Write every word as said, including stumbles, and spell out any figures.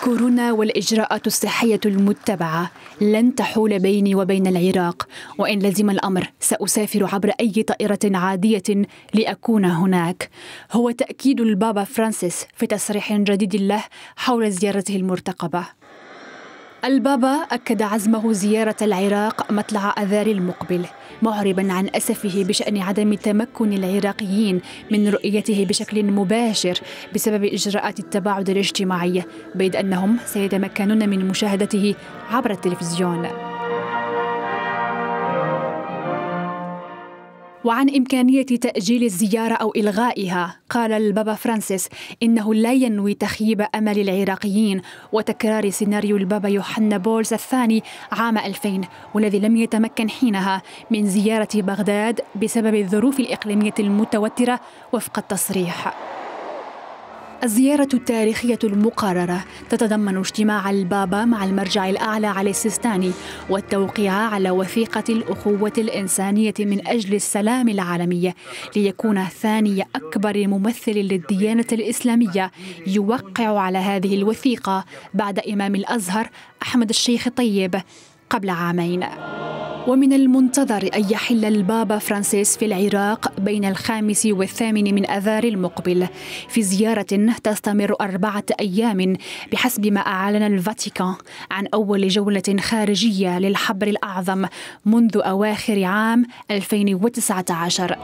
كورونا والإجراءات الصحية المتبعة لن تحول بيني وبين العراق، وإن لزم الأمر سأسافر عبر أي طائرة عادية لأكون هناك. هو تأكيد البابا فرانسيس في تصريح جديد له حول زيارته المرتقبة. البابا أكد عزمه زيارة العراق مطلع آذار المقبل، معرباً عن أسفه بشأن عدم تمكن العراقيين من رؤيته بشكل مباشر بسبب إجراءات التباعد الاجتماعي، بيد أنهم سيتمكنون من مشاهدته عبر التلفزيون. وعن إمكانية تأجيل الزيارة أو إلغائها، قال البابا فرانسيس إنه لا ينوي تخييب أمل العراقيين وتكرار سيناريو البابا يوحنا بولس الثاني عام ألفين، والذي لم يتمكن حينها من زيارة بغداد بسبب الظروف الإقليمية المتوترة وفق التصريح. الزيارة التاريخية المقررة تتضمن اجتماع البابا مع المرجع الأعلى علي السيستاني والتوقيع على وثيقة الأخوة الإنسانية من أجل السلام العالمي، ليكون ثاني أكبر ممثل للديانة الإسلامية يوقع على هذه الوثيقة بعد إمام الأزهر أحمد الشيخ طيب قبل عامين. ومن المنتظر أن يحل البابا فرانسيس في العراق بين الخامس والثامن من آذار المقبل، في زيارة تستمر أربعة أيام بحسب ما أعلن الفاتيكان عن أول جولة خارجية للحبر الأعظم منذ أواخر عام ألفين وتسعة عشر.